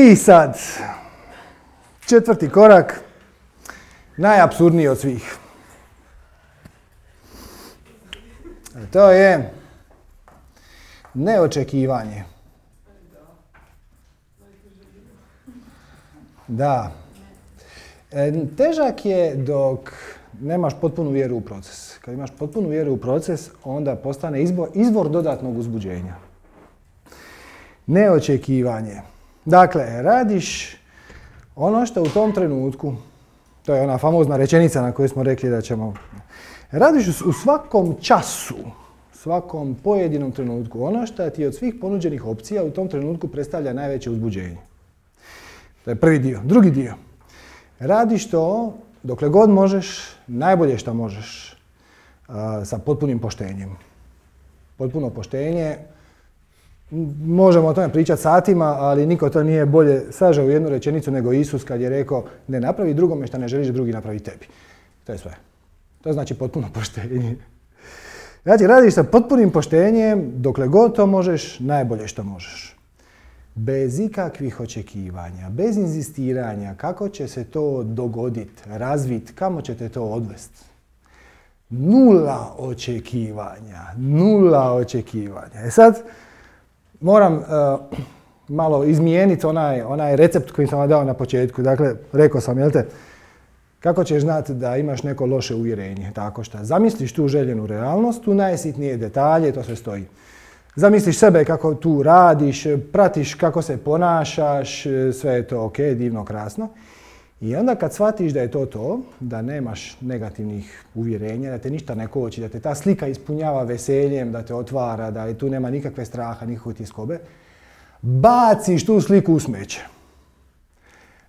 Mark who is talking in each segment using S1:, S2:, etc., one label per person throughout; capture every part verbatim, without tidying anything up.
S1: I sad, četvrti korak, najapsurdniji od svih. To je neočekivanje. Da. Težak je dok nemaš potpunu vjeru u proces. Kad imaš potpunu vjeru u proces, onda postane izbor, izvor dodatnog uzbuđenja. Neočekivanje. Dakle, radiš ono što u tom trenutku, to je ona famozna rečenica na koju smo rekli da ćemo, radiš u svakom času, svakom pojedinom trenutku, ono što ti od svih ponuđenih opcija u tom trenutku predstavlja najveće uzbuđenje. To je prvi dio. Drugi dio. Radiš to dokle god možeš, najbolje što možeš, sa potpunim poštenjem. Potpuno poštenje. Možemo o tome pričati satima, ali niko to nije bolje sažeo u jednu rečenicu nego Isus kad je rekao ne napravi drugome što ne želiš da drugi napravi tebi. To je sve. To znači potpuno poštenje. Znači, radiš sa potpunim poštenjem, dokle god to možeš, najbolje što možeš. Bez ikakvih očekivanja, bez inzistiranja kako će se to dogoditi, razviti, kamo ćete to odvesti. Nula očekivanja, nula očekivanja. E sad, moram uh, malo izmijeniti onaj, onaj recept koji sam vam dao na početku. Dakle, rekao sam, jel te, kako ćeš znati da imaš neko loše uvjerenje? Tako što zamisliš tu željenu realnost, tu najsitnije detalje, to sve stoji. Zamisliš sebe kako tu radiš, pratiš kako se ponašaš, sve je to ok, divno, krasno. I onda kad shvatiš da je to to, da nemaš negativnih uvjerenja, da te ništa ne koči, da te ta slika ispunjava veseljem, da te otvara, da tu nema nikakve straha, nikakve tjeskobe, baciš tu sliku u smeće.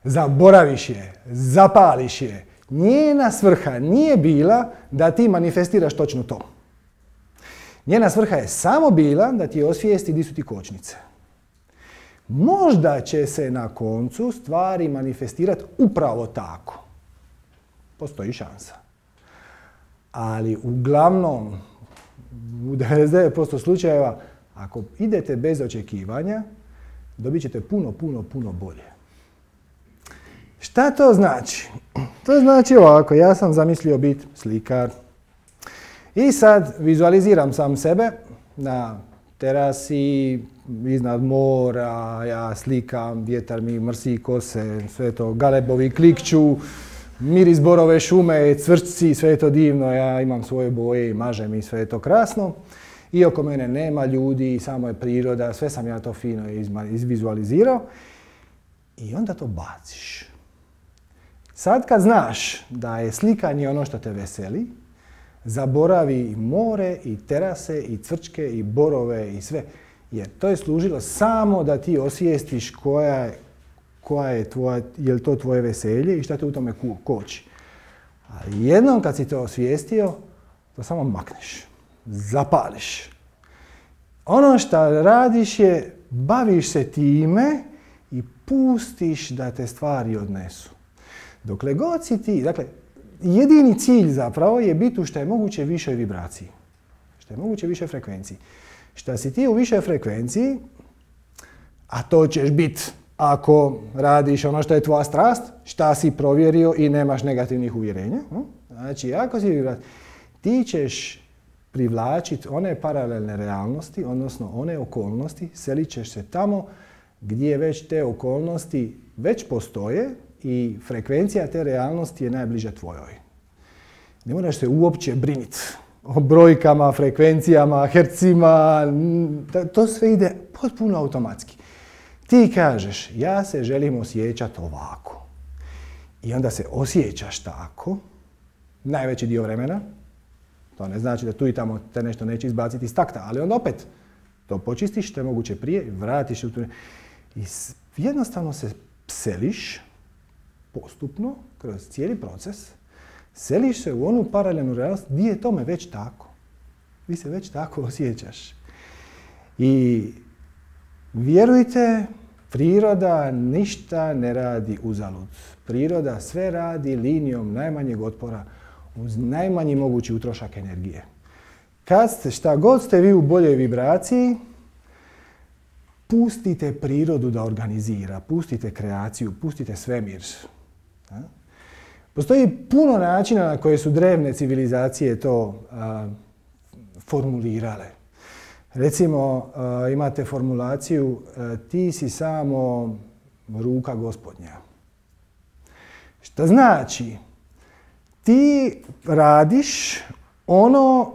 S1: Zaboraviš je, zapališ je. Njena svrha nije bila da ti manifestiraš točno to. Njena svrha je samo bila da ti osvijesti di su ti kočnice. Možda će se na koncu stvari manifestirati upravo tako. Postoji šansa. Ali uglavnom, u devedeset devet posto slučajeva, ako idete bez očekivanja, dobit ćete puno, puno, puno bolje. Šta to znači? To znači ovako, ja sam zamislio biti slikar. I sad vizualiziram sam sebe na terasi, iznad mora, ja slikam, vjetar mi mrsi kose, sve to galebovi klikću, miris borove šume, cvrčci, sve je to divno, ja imam svoje boje i mažem i sve je to krasno. I oko mene nema ljudi, samo je priroda, sve sam ja to fino izvizualizirao. I onda to baciš. Sad kad znaš da je slikanje ono što te veseli, zaboravi i more, i terase, i cvrčke, i borove, i sve. Jer to je služilo samo da ti osvijestiš koja, koja je tvoja, je li to tvoje veselje i šta te u tome koči. Ali jednom kad si to osvijestio, to samo makneš, zapališ. Ono što radiš je, baviš se time i pustiš da te stvari odnesu. Dokle god si ti, dakle, jedini cilj zapravo je biti u što je moguće višoj vibraciji. Što je moguće više frekvenciji. Šta si ti u višoj frekvenciji, a to ćeš biti ako radiš ono što je tvoja strast, šta si provjerio i nemaš negativnih uvjerenja. Znači, ako si vibraciji, ti ćeš privlačiti one paralelne realnosti, odnosno one okolnosti, selit ćeš se tamo gdje već te okolnosti već postoje i frekvencija te realnosti je najbliža tvojoj. Ne moraš se uopće briniti o brojkama, frekvencijama, hercima, to sve ide potpuno automatski. Ti kažeš, ja se želim osjećati ovako. I onda se osjećaš tako, najveći dio vremena. To ne znači da tu i tamo te nešto neće izbaciti iz takta, ali onda opet to počistiš što je moguće prije i vratiš u tu. I jednostavno se seliš postupno, kroz cijeli proces, seliš se u onu paralelnu realnost gdje je tome već tako. Vi se već tako osjećaš. I vjerujte, priroda ništa ne radi uzalud. Priroda sve radi linijom najmanjeg otpora uz najmanji mogući utrošak energije. Kad ste, šta god ste vi u boljoj vibraciji, pustite prirodu da organizira, pustite kreaciju, pustite svemir. Postoji puno načina na koje su drevne civilizacije to a, formulirale. Recimo, a, imate formulaciju a, ti si samo ruka gospodnja. Što znači, ti radiš ono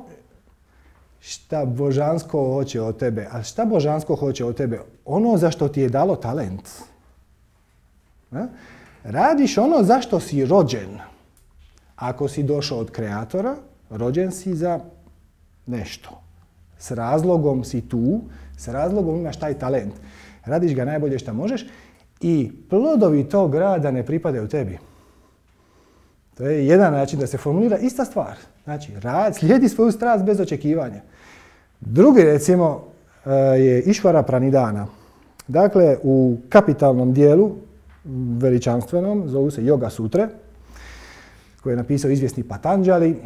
S1: šta božansko hoće od tebe. A šta božansko hoće od tebe? Ono za što ti je dalo talent. A? Radiš ono za što si rođen. Ako si došao od kreatora, rođen si za nešto. S razlogom si tu, s razlogom imaš taj talent. Radiš ga najbolje što možeš i plodovi tog rada ne pripadaju tebi. To je jedan način da se formulira ista stvar. Znači, rad, slijedi svoju strast bez očekivanja. Drugi, recimo, je Išvara Pranidana. Dakle, u kapitalnom dijelu, veličanstvenom, zovu se Yoga Sutre, koje je napisao izvjesni Patanjali.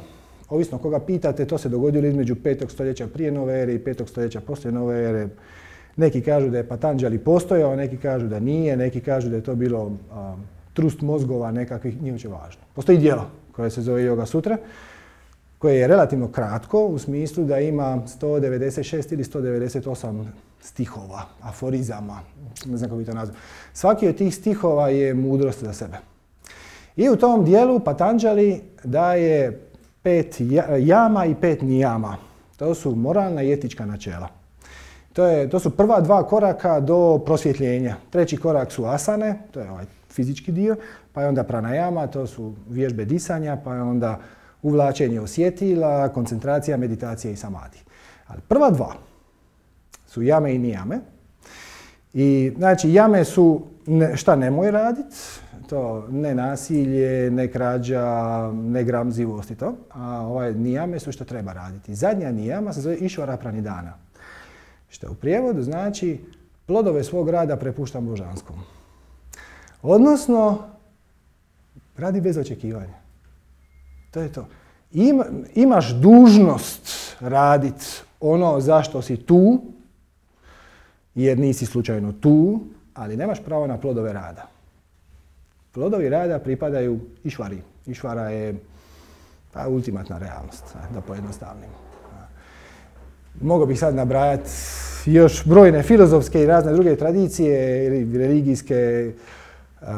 S1: Ovisno koga pitate, to se dogodilo između petog stoljeća prije nove ere i petog stoljeća poslije nove ere. Neki kažu da je Patanjali postojao, neki kažu da nije, neki kažu da je to bilo a, trust mozgova nekakvih, nije uopće važno. Postoji djelo koje se zove Yoga Sutra, koje je relativno kratko u smislu da ima sto devedeset šest ili sto devedeset osam stihova, aforizama, ne znam kako bi to nazvao. Svaki od tih stihova je mudrost za sebe. I u tom dijelu Patanjali daje pet jama i pet nijama. To su moralna i etička načela. To, je, to su prva dva koraka do prosvjetljenja. Treći korak su asane, to je ovaj fizički dio, pa je onda pranajama, to su vježbe disanja, pa je onda uvlačenje osjetila, koncentracija, meditacija i samadi. Ali prva dva su jame i nijame. I znači jame su ne, šta nemoj raditi, to ne nasilje, ne krađa, ne gramzivost i to. A ovaj nijame su što treba raditi. Zadnja nijama se zove Išvara Pranidana. Što u prijevodu znači plodove svog rada prepuštam božanskom. Odnosno, radi bez očekivanja. To je to. Ima, imaš dužnost raditi ono zašto si tu, jer nisi slučajno tu, ali nemaš pravo na plodove rada. Plodovi rada pripadaju Išvari. Išvara je pa, ultimatna realnost, da pojednostavnim. Mogao bih sad nabrajati još brojne filozofske i razne druge tradicije ili religijske. Uh,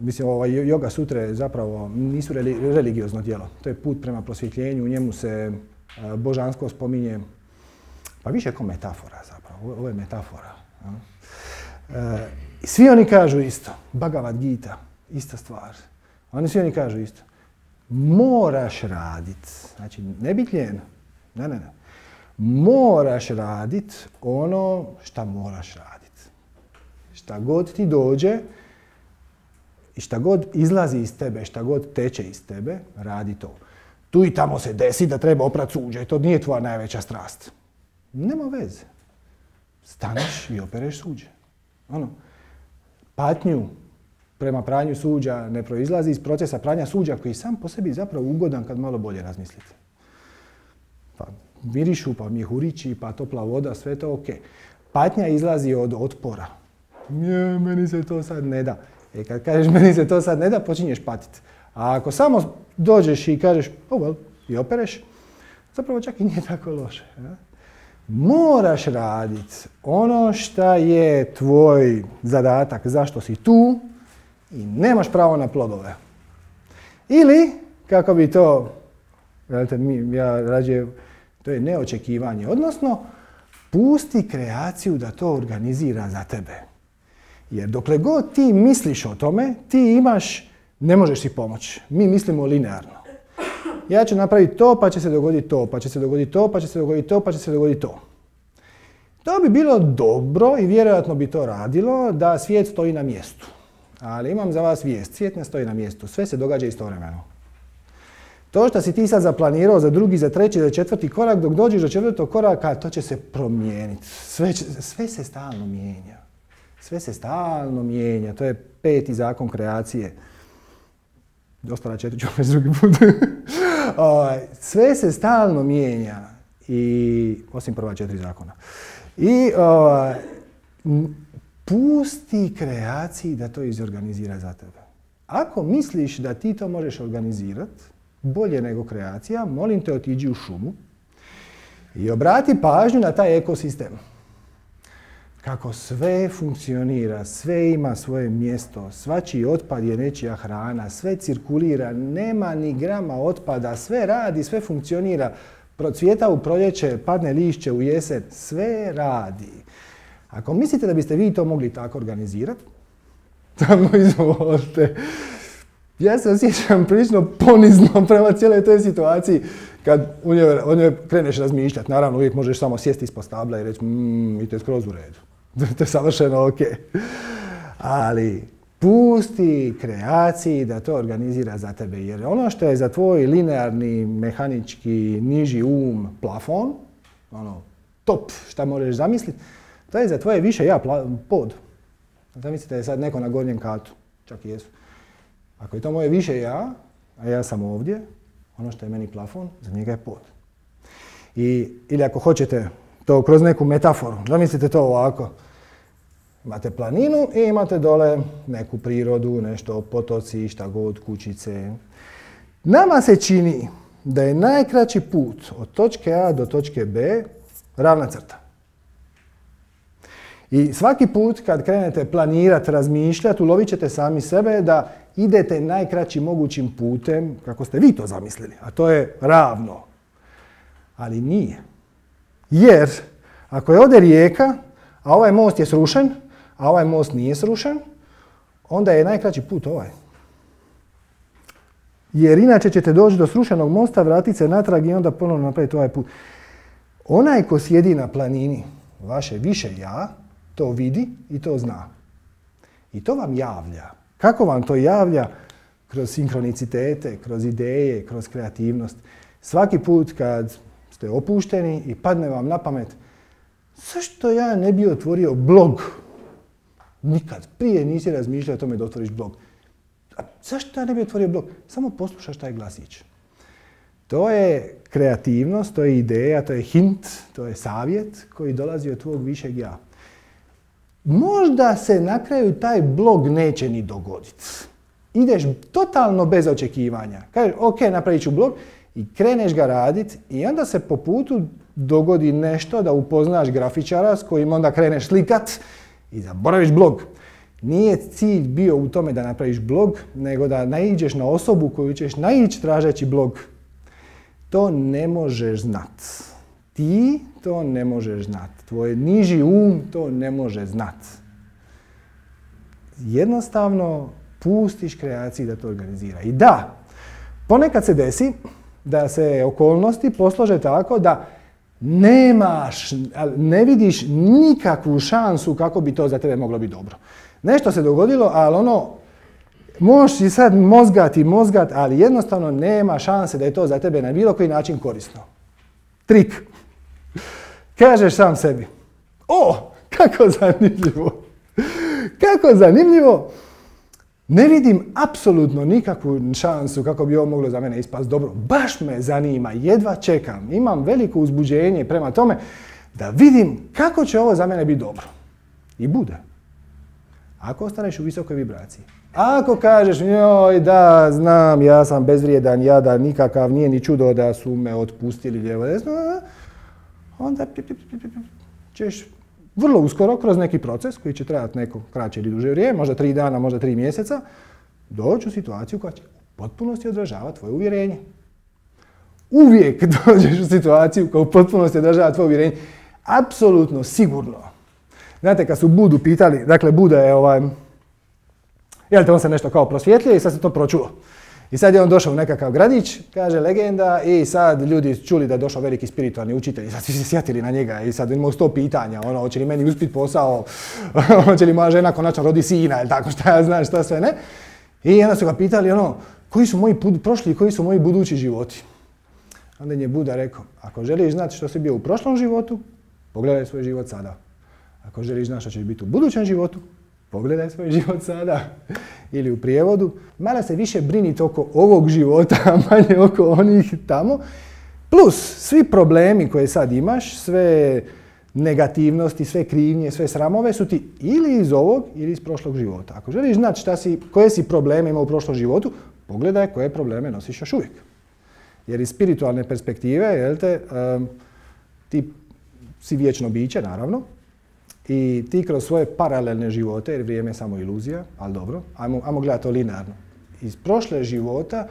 S1: mislim, ovaj Yoga Sutre zapravo nisu reli, religiozno djelo. To je put prema prosvjetljenju, u njemu se uh, božansko spominje, pa više kao metafora zapravo, ovo je metafora. Uh, svi oni kažu isto, Bhagavad Gita, ista stvar. Oni svi oni kažu isto. Moraš raditi, znači ne biti lijen, ne, ne, ne. Moraš raditi ono šta moraš raditi. Šta god ti dođe, i šta god izlazi iz tebe, šta god teče iz tebe, radi to. Tu i tamo se desi da treba oprati suđe, to nije tvoja najveća strast. Nema veze. Staneš i opereš suđe. Ono, patnju prema pranju suđa ne proizlazi iz procesa pranja suđa koji sam po sebi zapravo ugodan kad malo bolje razmislite. Pa mirišu, pa mjehurići, pa topla voda, sve to ok. Patnja izlazi od otpora. Nije, meni se to sad ne da. E kad kažeš meni se to sad ne da, počinješ patiti. A ako samo dođeš i kažeš oh well, i opereš, zapravo čak i nije tako loše. Ja? Moraš raditi ono šta je tvoj zadatak, zašto si tu i nemaš pravo na plodove. Ili, kako bi to, ja rađe, to je neočekivanje, odnosno pusti kreaciju da to organizira za tebe. Jer dokle god ti misliš o tome, ti imaš, ne možeš si pomoći. Mi mislimo linearno. Ja ću napraviti to, pa će se dogoditi to, pa će se dogoditi to, pa će se dogoditi to, pa će se dogoditi to. To bi bilo dobro i vjerojatno bi to radilo da svijet stoji na mjestu. Ali imam za vas vijest, svijet ne stoji na mjestu, sve se događa istovremeno. To što si ti sad zaplanirao za drugi, za treći, za četvrti korak, dok dođeš do četvrtog koraka, to će se promijeniti. Sve, će, sve se stalno mijenja. Sve se stalno mijenja. To je peti zakon kreacije. Ostala četiri ću već drugi put. Sve se stalno mijenja. I, osim prva četiri zakona. I, pusti kreaciji da to izorganizira za tebe. Ako misliš da ti to možeš organizirati bolje nego kreacija, molim te otiđi u šumu i obrati pažnju na taj ekosistem. Kako sve funkcionira, sve ima svoje mjesto, svačiji otpad je nečija hrana, sve cirkulira, nema ni grama otpada, sve radi, sve funkcionira, procvjeta u proljeće, padne lišće u jesen, sve radi. Ako mislite da biste vi to mogli tako organizirati, tamo izvolite. Ja se osjećam prilično ponizno prema cijeloj toj situaciji kad u njoj, o njoj kreneš razmišljati. Naravno, uvijek možeš samo sjesti ispod stabla i reći mmm, i to je skroz u redu. To je savršeno ok. Ali pusti kreaciji da to organizira za tebe. Jer ono što je za tvoj linearni, mehanički, niži um plafon, ono, top šta možeš zamisliti, to je za tvoje više ja pod. Zamislite da je sad neko na gornjem katu, čak i jesu. Ako je to moje više ja, a ja sam ovdje, ono što je meni plafon, za njega je pod. I, ili ako hoćete to kroz neku metaforu, zamislite to ovako. Imate planinu i imate dole neku prirodu, nešto potoci, šta god, kućice. Nama se čini da je najkraći put od točke A do točke B ravna crta. I svaki put kad krenete planirati, razmišljati, ulovit ćete sami sebe da idete najkraćim mogućim putem, kako ste vi to zamislili, a to je ravno. Ali nije. Jer ako je ovdje rijeka, a ovaj most je srušen, a ovaj most nije srušen, onda je najkraći put ovaj. Jer inače ćete doći do srušenog mosta, vratiti se natrag i onda ponovno napraviti ovaj put. Onaj ko sjedi na planini, vaše više ja, to vidi i to zna. I to vam javlja. Kako vam to javlja? Kroz sinkronicitete, kroz ideje, kroz kreativnost. Svaki put kad ste opušteni i padne vam na pamet, zašto ja ne bi otvorio blog? Nikad prije nisi razmišljao o tome da otvoriš blog. A zašto ja ne bi otvorio blog? Samo poslušaš taj glasić. To je kreativnost, to je ideja, to je hint, to je savjet koji dolazi od tvog višeg ja. Možda se na kraju taj blog neće ni dogoditi. Ideš totalno bez očekivanja. Kažeš, ok, napravit ću blog i kreneš ga raditi i onda se po putu dogodi nešto da upoznaš grafičara s kojim onda kreneš slikat i zaboraviš blog. Nije cilj bio u tome da napraviš blog, nego da naiđeš na osobu koju ćeš naići tražeći blog. To ne možeš znat. Ti to ne možeš znat. Tvoj niži um to ne može znat. Jednostavno pustiš kreaciji da to organizira. I da, ponekad se desi da se okolnosti poslože tako da nemaš, ne vidiš nikakvu šansu kako bi to za tebe moglo biti dobro. Nešto se dogodilo, ali ono, možeš i sad mozgati, mozgat, ali jednostavno nema šanse da je to za tebe na bilo koji način korisno. Trik. Kažeš sam sebi, o, kako zanimljivo, kako zanimljivo, ne vidim apsolutno nikakvu šansu kako bi ovo moglo za mene ispast dobro. Baš me zanima, jedva čekam, imam veliko uzbuđenje prema tome da vidim kako će ovo za mene biti dobro. I bude. Ako ostaneš u visokoj vibraciji. Ako kažeš, joj da, znam, ja sam bezvrijedan, jadan, nikakav, nije ni čudo da su me otpustili lijevo desno, onda ćeš vrlo uskoro kroz neki proces koji će trajati neko kraće ili duže vrijeme, možda tri dana, možda tri mjeseca, doći u situaciju koja će u potpunosti odražavati tvoje uvjerenje. Uvijek dođeš u situaciju koja u potpunosti odražava tvoje uvjerenje. Apsolutno, sigurno. Znate, kad su Budu pitali, dakle Buda je ovaj, jel te on se nešto kao prosvjetlio i sad se to pročulo. I sad je on došao u nekakav gradić, kaže legenda, i sad ljudi čuli da je došao veliki spiritualni učitelj i sad svi se sjetili na njega i sad imao sto pitanja, ono, hoće li meni uspjeti posao, hoće li moja žena konačno rodi sina ili tako, šta ja znam, šta sve ne. I onda su ga pitali, ono, koji su moji prošli i koji su moji budući životi. Onda je Buda rekao, ako želiš znati što si bio u prošlom životu, pogledaj svoj život sada. Ako želiš znati što ćeš biti u budućem životu, pogledaj svoj život sada. Ili u prijevodu, malo se više brinite oko ovog života, a manje oko onih tamo. Plus, svi problemi koje sad imaš, sve negativnosti, sve krivnje, sve sramove su ti ili iz ovog ili iz prošlog života. Ako želiš znati šta si, koje si probleme imao u prošlom životu, pogledaj koje probleme nosiš još uvijek. Jer iz spiritualne perspektive, jel te, um, ti si vječno biće, naravno, i ti kroz svoje paralelne živote, jer vrijeme je samo iluzija, ali dobro, ajmo, ajmo gledati to linearno. Iz prošle života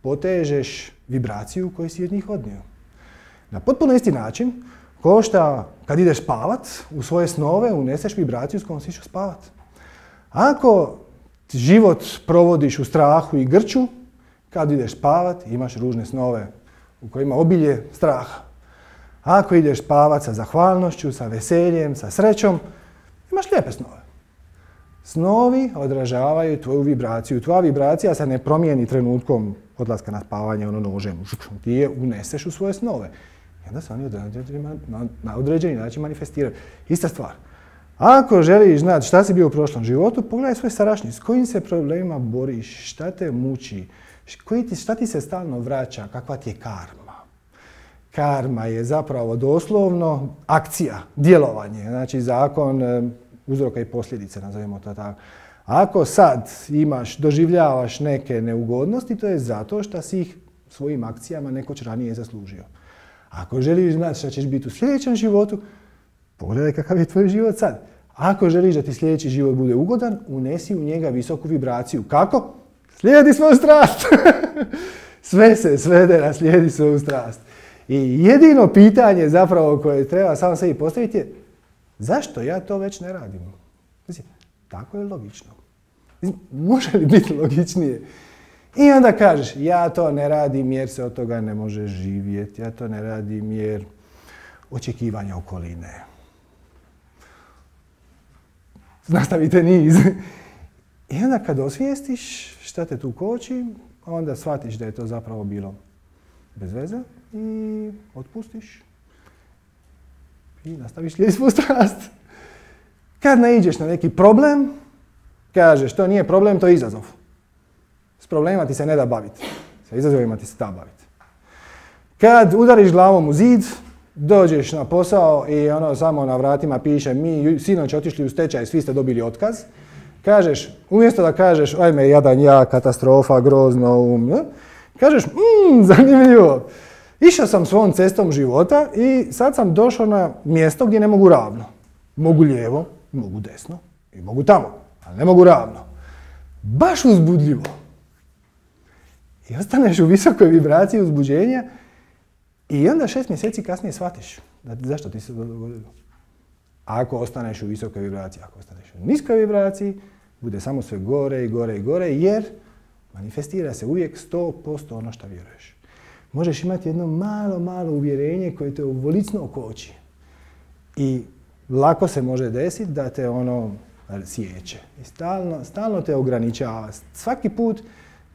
S1: potežeš vibraciju koju si od njih odnio. Na potpuno isti način, ko šta kad ideš spavat, u svoje snove uneseš vibraciju s kojom si išao spavat. Ako život provodiš u strahu i grču, kad ideš spavat imaš ružne snove u kojima obilje straha. Ako ideš spavat sa zahvalnošću, sa veseljem, sa srećom, imaš lijepe snove. Snovi odražavaju tvoju vibraciju. Tvoja vibracija se ne promijeni trenutkom odlaska na spavanje, ono nožem. Ti je uneseš u svoje snove. I onda se oni na određeni način manifestiraju. Ista stvar. Ako želiš znati šta si bio u prošlom životu, pogledaj svoj sadašnji. S kojim se problemima boriš, šta te muči, šta ti se stalno vraća, kakva ti je karma. Karma je zapravo doslovno akcija, djelovanje, znači zakon uzroka i posljedice, nazovimo to tako. Ako sad imaš, doživljavaš neke neugodnosti, to je zato što si ih svojim akcijama nekoć ranije zaslužio. Ako želiš znati šta ćeš biti u sljedećem životu, pogledaj kakav je tvoj život sad. Ako želiš da ti sljedeći život bude ugodan, unesi u njega visoku vibraciju. Kako? Slijedi svoju strast. Sve se svede na slijedi svoju strast. I jedino pitanje zapravo koje treba samo sebi postaviti je zašto ja to već ne radim? Mislim, tako je logično. Mislim, može li biti logičnije? I onda kažeš, ja to ne radim jer se od toga ne može živjeti, ja to ne radim jer očekivanja okoline. Nastavite niz. I onda kad osvijestiš šta te tu koči, onda shvatiš da je to zapravo bilo bez veze i otpustiš i nastaviš slijediti svoju strast. Kad naiđeš na neki problem, kažeš to nije problem, to je izazov. S problemima ti se ne da baviti, sa izazovima ti se da baviti. Kad udariš glavom u zid, dođeš na posao i ono samo na vratima piše mi sinoć otišli u stečaj, svi ste dobili otkaz. Kažeš, umjesto da kažeš ajme jadan ja, katastrofa, grozno, um, kažeš mmm, zanimljivo. Išao sam svom cestom života i sad sam došao na mjesto gdje ne mogu ravno. Mogu lijevo, mogu desno i mogu tamo, ali ne mogu ravno. Baš uzbudljivo. I ostaneš u visokoj vibraciji uzbuđenja i onda šest mjeseci kasnije shvatiš da, zašto ti se to dogodilo. Ako ostaneš u visokoj vibraciji, ako ostaneš u niskoj vibraciji, bude samo sve gore i gore i gore jer manifestira se uvijek sto posto ono što vjeruješ. Možeš imati jedno malo, malo uvjerenje koje te ovolicno koči. I lako se može desiti da te ono sjeće. I stalno, stalno te ograničava. Svaki put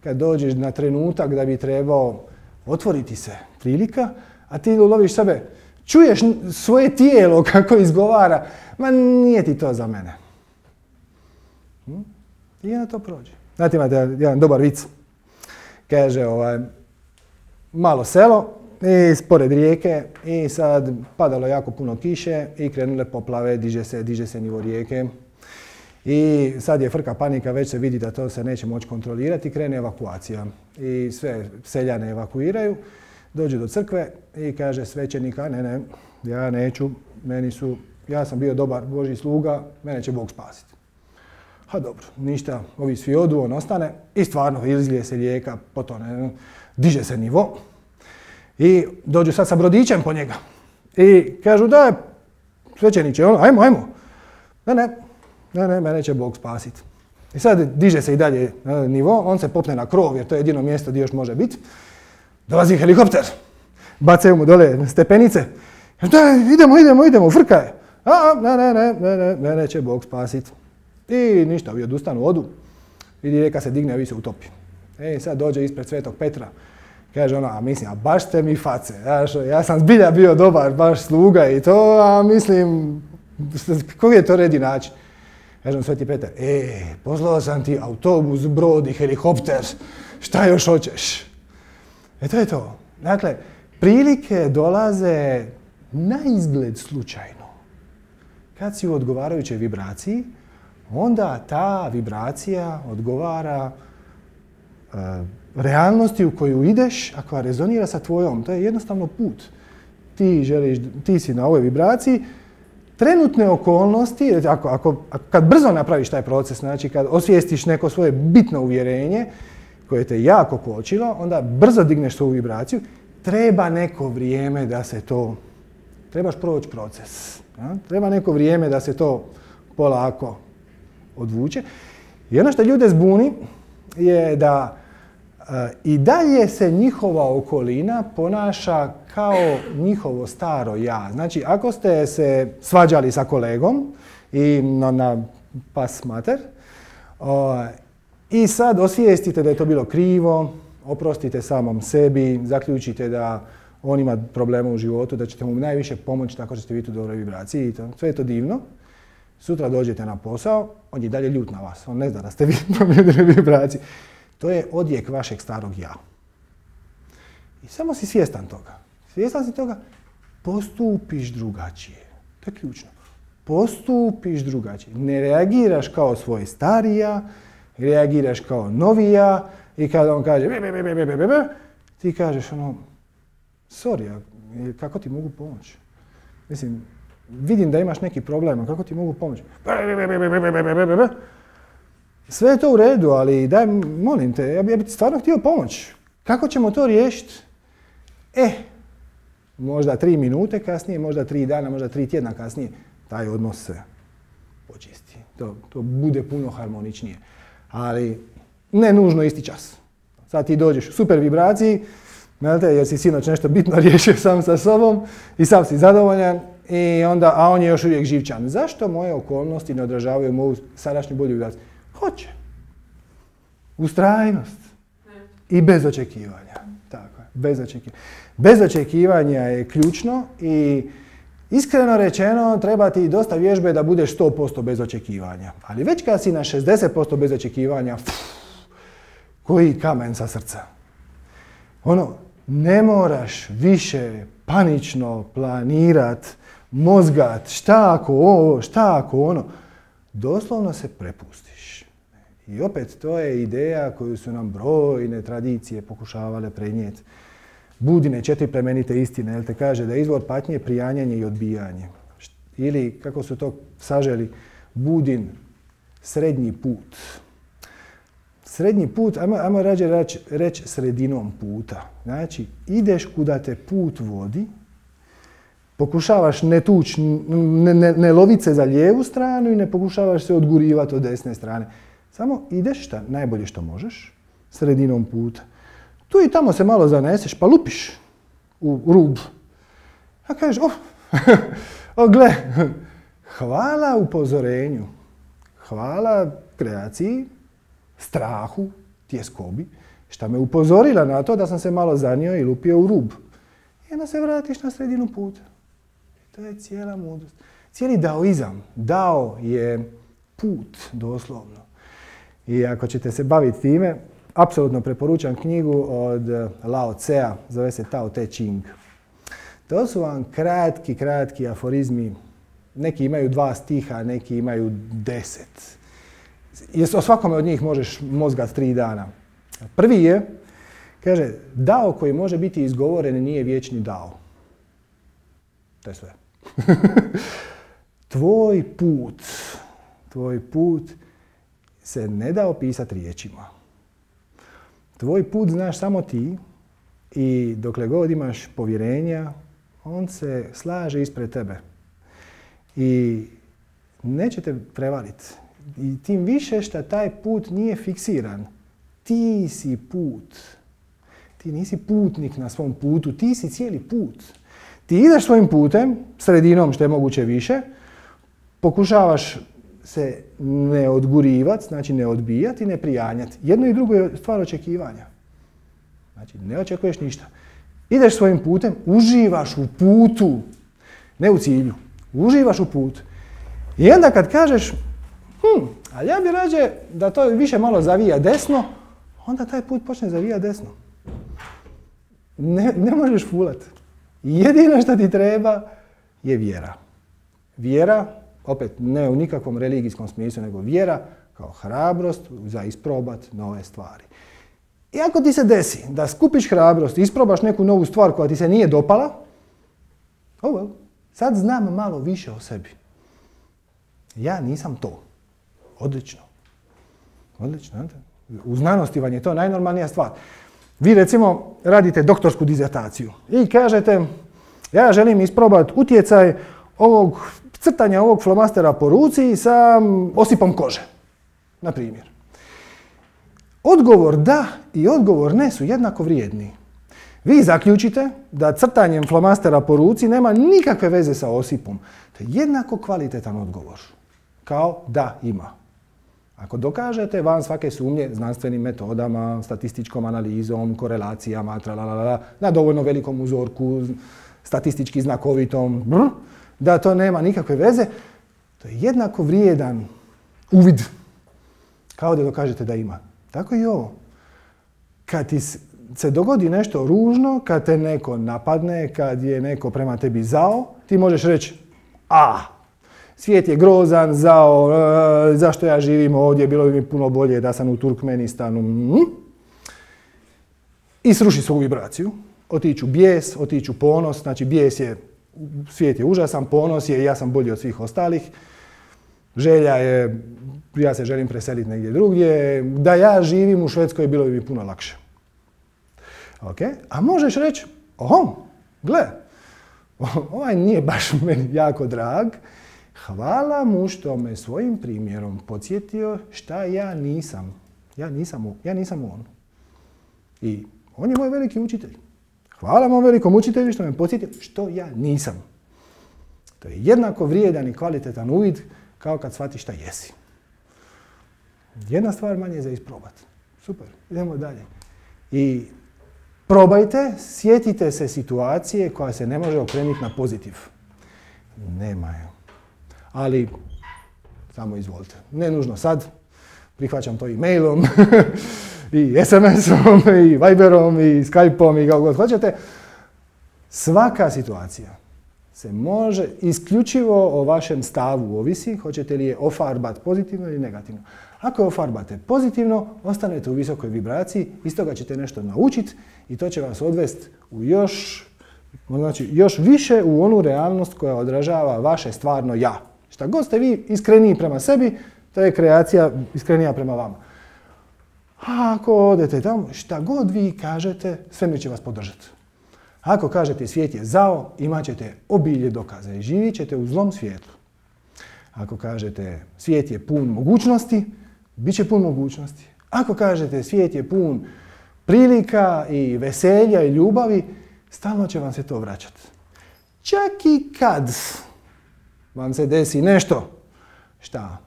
S1: kad dođeš na trenutak da bi trebao otvoriti se prilika, a ti loviš sebe, čuješ svoje tijelo kako izgovara, ma nije ti to za mene. Hm? I onda to prođe. Znate, imate jedan dobar vic. Kaže, ovaj, malo selo i spored rijeke i sad padalo jako puno kiše i krenule poplave, diže se, diže se nivo rijeke. I sad je frka panika, već se vidi da to se neće moći kontrolirati i krene evakuacija. I sve seljane evakuiraju, dođe do crkve i kaže svećenika, ne, ne, ja neću, meni su, ja sam bio dobar Božji sluga, mene će Bog spasiti. Ha dobro, ništa, ovi svi odu, on ostane i stvarno izlije se rijeka, potone, diže se nivo. I dođu sad sa brodićem po njega. I kažu da, svećeniče, ono, ajmo, ajmo. Ne, ne, ne, ne, mene će Bog spasiti. I sad diže se i dalje na nivo, on se popne na krov jer to je jedino mjesto gdje još može biti. Dolazi helikopter, bacaju mu dole stepenice. Da, idemo, idemo, idemo, frka je. A, ne, ne, ne, ne, ne, mene će Bog spasiti. I ništa, ovi odustanu, odu. Vidi rijeka se digne, a vi se utopi. E, sad dođe ispred Svetog Petra. Kaže ona, a mislim, a baš ste mi face. Ja, ja sam zbilja bio dobar, baš sluga i to, a mislim, koji je to redi način? Kaže on Sveti Petar, e, poslao sam ti autobus, brod i helikopter, šta još hoćeš? E to je to. Dakle, prilike dolaze na izgled slučajno. kad si u odgovarajućoj vibraciji, onda ta vibracija odgovara uh, realnosti u koju ideš, a koja rezonira sa tvojom. To je jednostavno put. Ti želiš, ti si na ovoj vibraciji, trenutne okolnosti, ako, ako, kad brzo napraviš taj proces, znači kad osvijestiš neko svoje bitno uvjerenje koje te jako kočilo, onda brzo digneš svoju vibraciju, treba neko vrijeme da se to, trebaš proći proces. Ja? Treba neko vrijeme da se to polako odvuče. I ono što ljude zbuni je da uh, i dalje se njihova okolina ponaša kao njihovo staro ja. Znači, ako ste se svađali sa kolegom i na, na pas mater uh, i sad osvijestite da je to bilo krivo, oprostite samom sebi, zaključite da on ima problema u životu, da ćete mu najviše pomoći tako što ćete biti u dobroj vibraciji i to. Sve je to divno. Sutra dođete na posao, on je dalje ljut na vas. On ne zna da ste vi promijenili vibraciju. To je odjek vašeg starog ja. I samo si svjestan toga. Svjestan si toga, postupiš drugačije. To je ključno. Postupiš drugačije. Ne reagiraš kao svoj stari ja, reagiraš kao novi ja i kada on kaže be, be, be, be, be, be, be, ti kažeš ono, sorry, kako ti mogu pomoći? Mislim, vidim da imaš neki problem, kako ti mogu pomoći? Sve je to u redu, ali daj, molim te, ja bih ti stvarno htio pomoći. Kako ćemo to riješiti? E, možda tri minute kasnije, možda tri dana, možda tri tjedna kasnije, taj odnos se počisti. To, to bude puno harmoničnije. Ali ne nužno isti čas. Sad ti dođeš u super vibraciji, jer si sinoć nešto bitno riješio sam sa sobom i sam si zadovoljan, i onda, a on je još uvijek živčan. Zašto moje okolnosti ne odražavaju moju sadašnju bolju vibraciju? Hoće. Ustrajnost. I bez očekivanja. Tako je, bez očekivanja. Bez očekivanja je ključno i iskreno rečeno treba ti dosta vježbe da budeš sto posto bez očekivanja. Ali već kad si na šezdeset posto bez očekivanja, pff, koji kamen sa srca. Ono, ne moraš više panično planirat, mozgat, šta ako ovo, šta ako ono. Doslovno se prepustiš. I opet, to je ideja koju su nam brojne tradicije pokušavale prenijeti. Budine četiri plemenite istine, jel te kaže da je izvor patnje prijanjanje i odbijanje. Ili, kako su to saželi, Budin srednji put. Srednji put, ajmo, ajmo rađe reći reć sredinom puta. Znači, ideš kuda te put vodi, pokušavaš ne tući, ne, ne, ne loviti se za lijevu stranu i ne pokušavaš se odgurivati od desne strane. Samo ideš šta najbolje što možeš, sredinom puta. Tu i tamo se malo zaneseš, pa lupiš u rub. A kažeš, oh, o gle, hvala upozorenju, hvala kreaciji, strahu, tjeskobi, šta me upozorila na to da sam se malo zanio i lupio u rub. I onda se vratiš na sredinu puta. I to je cijela mudrost. Cijeli daoizam. Dao je put, doslovno. I ako ćete se baviti time, apsolutno preporučam knjigu od Lao Tsea, zove se Tao Te Ching. To su vam kratki, kratki aforizmi. Neki imaju dva stiha, neki imaju deset. O svakome od njih možeš mozgat tri dana. Prvi je, kaže, dao koji može biti izgovoren nije vječni dao. To je sve. Tvoj put, tvoj put se ne da opisati riječima. Tvoj put znaš samo ti i dokle god imaš povjerenja, on se slaže ispred tebe. I neće te prevariti. I tim više što taj put nije fiksiran. Ti si put. Ti nisi putnik na svom putu, ti si cijeli put. Ti ideš svojim putem, sredinom što je moguće više, pokušavaš se ne odgurivati, znači ne odbijati, ne prijanjati. Jedno i drugo je stvar očekivanja. Znači ne očekuješ ništa. Ideš svojim putem, uživaš u putu, ne u cilju. Uživaš u putu. I onda kad kažeš, hm, ali ja bi rađe da to više malo zavija desno, onda taj put počne zavija desno. Ne, ne možeš fulat. Jedino što ti treba je vjera. Vjera opet ne u nikakvom religijskom smislu, nego vjera kao hrabrost za isprobat nove stvari. I ako ti se desi da skupiš hrabrost i isprobaš neku novu stvar koja ti se nije dopala, oh well, sad znam malo više o sebi. Ja nisam to. Odlično. Odlično. U znanosti vam je to najnormalnija stvar. Vi recimo radite doktorsku dizertaciju i kažete ja želim isprobati utjecaj ovog crtanja ovog flomastera po ruci sa osipom kože, na primjer. Odgovor da i odgovor ne su jednako vrijedni. Vi zaključite da crtanjem flomastera po ruci nema nikakve veze sa osipom. To je jednako kvalitetan odgovor kao da ima. Ako dokažete van svake sumnje znanstvenim metodama, statističkom analizom, korelacijama, tralalala, na dovoljno velikom uzorku, statistički znakovitom, brr, da to nema nikakve veze, to je jednako vrijedan uvid kao da dokažete da ima. Tako i ovo. Kad ti se dogodi nešto ružno, kad te neko napadne, kad je neko prema tebi zao, ti možeš reći a, svijet je grozan, zao, e, zašto ja živim ovdje, bilo bi mi puno bolje da sam u Turkmenistanu. Mm. I sruši svoju vibraciju. Otiću bijes, otiću ponos, znači bijes je, svijet je užasan, ponos je, ja sam bolji od svih ostalih. Želja je, ja se želim preseliti negdje drugdje, da ja živim u Švedskoj bilo bi mi puno lakše. Okay? A možeš reći, oho, gle, ovaj nije baš meni jako drag, hvala mu što me svojim primjerom podsjetio šta ja nisam. Ja nisam, ja nisam on. I on je moj veliki učitelj. Hvala mom velikom učitelju što me podsjetio što ja nisam. To je jednako vrijedan i kvalitetan uvid kao kad shvatiš šta jesi. Jedna stvar manje za isprobati. Super, idemo dalje. I probajte, sjetite se situacije koja se ne može okrenuti na pozitiv. Nema je. Ali, samo izvolite. Ne nužno sad. Prihvaćam to i mailom, i es em esom, i Viberom, i Skypeom, i kako god hoćete. Svaka situacija se može isključivo o vašem stavu ovisi, hoćete li je ofarbati pozitivno ili negativno. Ako je ofarbate pozitivno, ostanete u visokoj vibraciji, iz toga ćete nešto naučiti i to će vas odvesti u još, znači, još više u onu realnost koja odražava vaše stvarno ja. Šta god ste vi iskreniji prema sebi, to je kreacija iskrenija prema vama. A ako odete tamo, šta god vi kažete, svemir će vas podržati. Ako kažete svijet je zao, imat ćete obilje dokaza i živit ćete u zlom svijetu. Ako kažete svijet je pun mogućnosti, bit će pun mogućnosti. Ako kažete svijet je pun prilika i veselja i ljubavi, stalno će vam se to vraćati. Čak i kad vam se desi nešto šta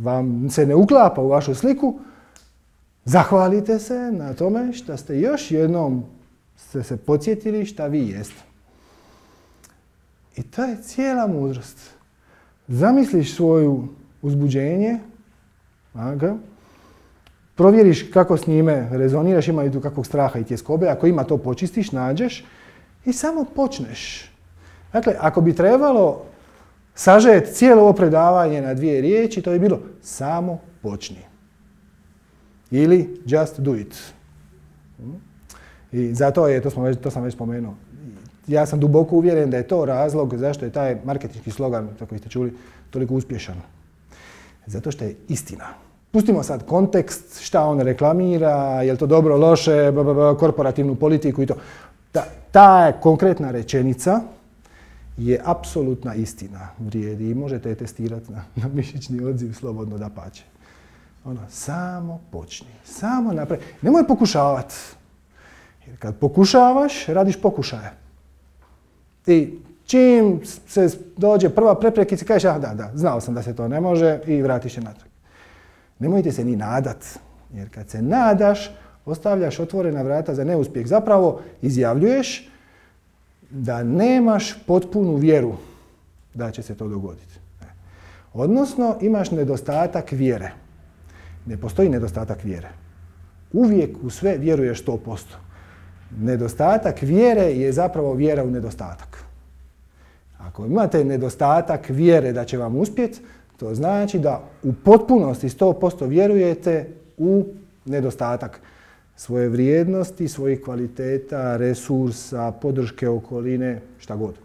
S1: vam se ne uklapa u vašu sliku, zahvalite se na tome što ste još jednom ste se podsjetili šta vi jeste. I to je cijela mudrost. Zamisliš svoju uzbuđenje, aga, provjeriš kako s njime rezoniraš, ima li tu kakvog straha i tjeskobe, ako ima to počistiš, nađeš i samo počneš. Dakle, ako bi trebalo sažeti cijelo ovo predavanje na dvije riječi, to bi bilo samo počni. Ili just do it. I zato je, to, smo već, to sam već spomenuo, ja sam duboko uvjeren da je to razlog zašto je taj marketinški slogan, kako ste čuli, toliko uspješan. Zato što je istina. Pustimo sad kontekst, šta on reklamira, je li to dobro, loše, b, b, b, korporativnu politiku i to. Ta, ta konkretna rečenica je apsolutna istina, vrijedi i možete je testirati na, na mišićni odziv slobodno dapače. Ono, samo počni, samo napravi. Nemoj pokušavati. Jer kad pokušavaš, radiš pokušaje. I čim se dođe prva preprekica, kažeš, ah da, da, znao sam da se to ne može i vratiš se natrag. Nemojte se ni nadat, jer kad se nadaš, ostavljaš otvorena vrata za neuspjeh. Zapravo izjavljuješ da nemaš potpunu vjeru da će se to dogoditi. Odnosno, imaš nedostatak vjere. Ne postoji nedostatak vjere. Uvijek u sve vjeruješ sto posto. Nedostatak vjere je zapravo vjera u nedostatak. A Ako imate nedostatak vjere da će vam uspjeti, to znači da u potpunosti sto posto vjerujete u nedostatak svoje vrijednosti, svojih kvaliteta, resursa, podrške okoline, šta god.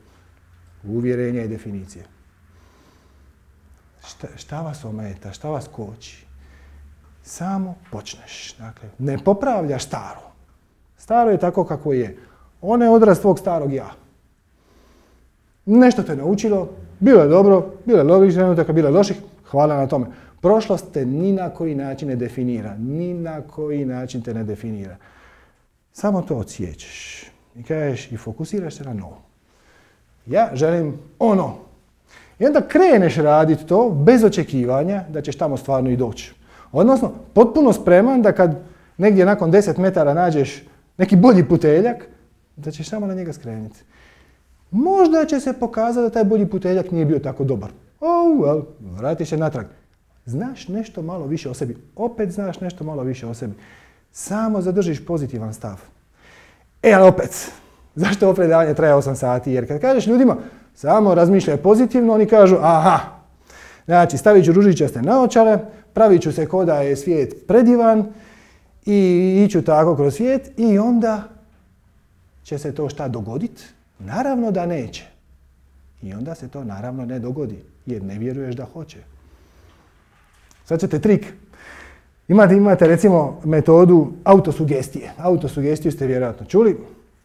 S1: Uvjerenja i definicije. Šta, šta vas ometa, šta vas koči? Samo počneš. Dakle, ne popravljaš staro. Staro je tako kako je. Ono je odraz tvog starog ja. Nešto te naučilo, bilo je dobro, bilo je logičnih trenutaka, bilo je loših, hvala na tome. Prošlost te ni na koji način ne definira, ni na koji način te ne definira. Samo to odsjećeš i kažeš i fokusiraš se na novo. Ja želim ono. I onda kreneš raditi to bez očekivanja da ćeš tamo stvarno i doći. Odnosno, potpuno spreman da kad negdje nakon deset metara nađeš neki bolji puteljak, da ćeš samo na njega skrenuti. Možda će se pokazati da taj bolji puteljak nije bio tako dobar. Oh, well, vratiš se natrag. Znaš nešto malo više o sebi. Opet znaš nešto malo više o sebi. Samo zadržiš pozitivan stav. E, ali opet, zašto ovo predavanje traje osam sati? Jer kad kažeš ljudima samo razmišljaj pozitivno, oni kažu aha. Znači, stavit ću ružičaste naočare, pravit ću se ko da je svijet predivan i iću tako kroz svijet i onda će se to šta dogoditi? Naravno da neće. I onda se to naravno ne dogodi, jer ne vjeruješ da hoće. Sad ćete trik. Imate, imate recimo metodu autosugestije. Autosugestiju ste vjerojatno čuli.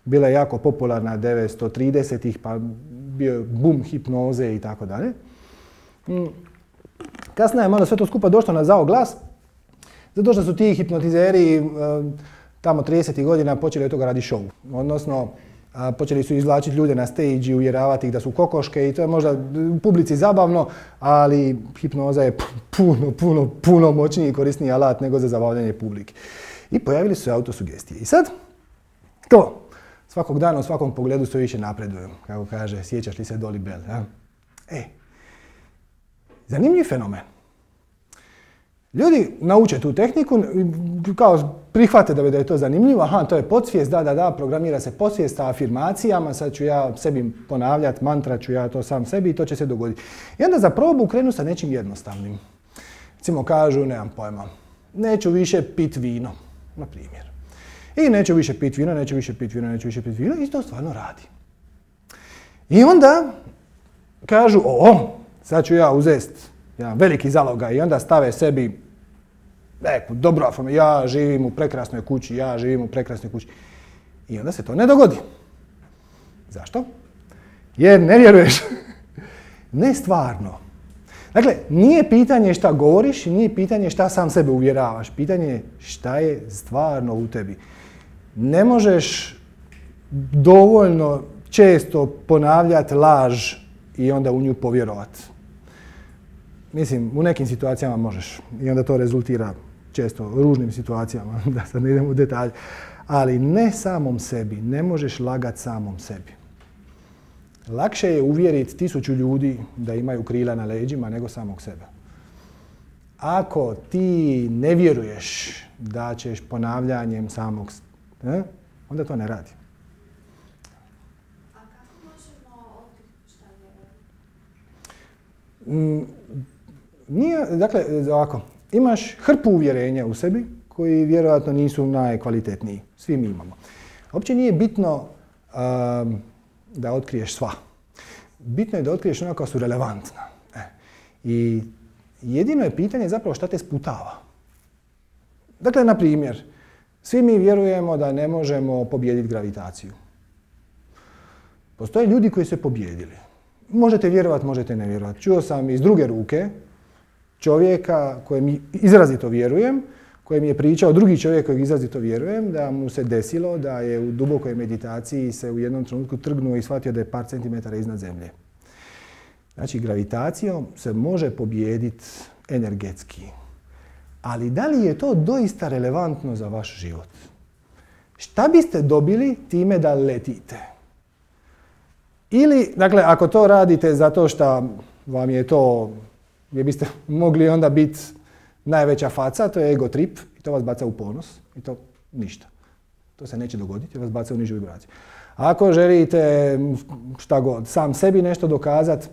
S1: Bila je jako popularna devetsto tridesetih, pa bio je boom hipnoze i tako dalje. Kasnije je malo sve to skupa došlo na zao glas, zato što su ti hipnotizeri tamo tridesetih godina počeli od toga radi show. Odnosno, a počeli su izvlačiti ljude na stage i uvjeravati ih da su kokoške i to je možda u publici zabavno, ali hipnoza je puno, puno, puno moćniji i korisniji alat nego za zabavljanje publike. I pojavili su se autosugestije. I sad, to, svakog dana u svakom pogledu sve više napredujem. Kako kaže, sjećaš li se Dolly Bell? Ja? E, zanimljiv fenomen. Ljudi nauče tu tehniku, kao prihvate da je to zanimljivo, aha, to je podsvijest, da, da, da, programira se podsvijest sa afirmacijama, sad ću ja sebi ponavljati, mantra ću ja to sam sebi i to će se dogoditi. I onda za probu krenu sa nečim jednostavnim. Recimo kažu, nemam pojma, neću više pit vino, na primjer. I neću više pit vino, neću više pit vino, neću više pit vino i to stvarno radi. I onda kažu, o, sad ću ja uzeti jedan veliki zalogaj i onda stave sebi neku dobru afirmaciju, ja živim u prekrasnoj kući, ja živim u prekrasnoj kući. I onda se to ne dogodi. Zašto? Jer ne vjeruješ. Ne stvarno. Dakle, nije pitanje šta govoriš, nije pitanje šta sam sebe uvjeravaš. Pitanje je šta je stvarno u tebi. Ne možeš dovoljno često ponavljati laž i onda u nju povjerovati. Mislim, u nekim situacijama možeš i onda to rezultira često ružnim situacijama, da sad ne idemo u detalje. Ali ne samom sebi, ne možeš lagati samom sebi. Lakše je uvjeriti tisuću ljudi da imaju krila na leđima nego samog sebe. Ako ti ne vjeruješ da ćeš ponavljanjem samog sebe, onda to ne radi.
S2: A kako možemo otkriti šta vjerujemo?
S1: Nije, dakle, ovako, imaš hrpu uvjerenja u sebi koji vjerojatno nisu najkvalitetniji. Svi mi imamo. Uopće nije bitno um, da otkriješ sva. Bitno je da otkriješ ona koja su relevantna. E. I jedino je pitanje zapravo šta te sputava. Dakle, na primjer, svi mi vjerujemo da ne možemo pobijediti gravitaciju. Postoje ljudi koji su je pobijedili. Možete vjerovati, možete ne vjerovati. Čuo sam iz druge ruke čovjeka kojem izrazito vjerujem, koji mi je pričao drugi čovjek kojeg izrazito vjerujem, da mu se desilo da je u dubokoj meditaciji se u jednom trenutku trgnuo i shvatio da je par centimetara iznad zemlje. Znači, gravitacijom se može pobijediti energetski. Ali da li je to doista relevantno za vaš život? Šta biste dobili time da letite? Ili, dakle, ako to radite zato što vam je to, gdje biste mogli onda biti najveća faca, to je ego trip i to vas baca u ponos i to ništa. To se neće dogoditi jer vas baca u nižu vibraciju. Ako želite šta god, sam sebi nešto dokazati,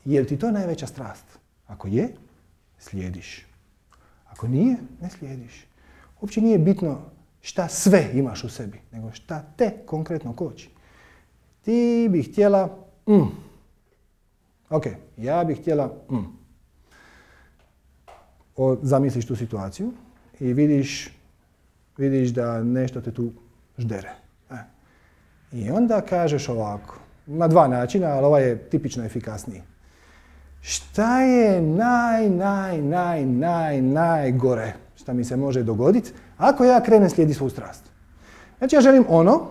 S1: je li ti to najveća strast? Ako je, slijediš. Ako nije, ne slijediš. Uopće nije bitno šta sve imaš u sebi, nego šta te konkretno koči. Ti bi htjela mm. Ok, ja bih htjela mm. O, zamisliš tu situaciju i vidiš, vidiš da nešto te tu ždere. E. I onda kažeš ovako, na dva načina, ali ovaj je tipično efikasniji. Šta je naj, naj, naj, naj, najgore šta mi se može dogoditi ako ja krenem slijediti svoju strast? Znači ja želim ono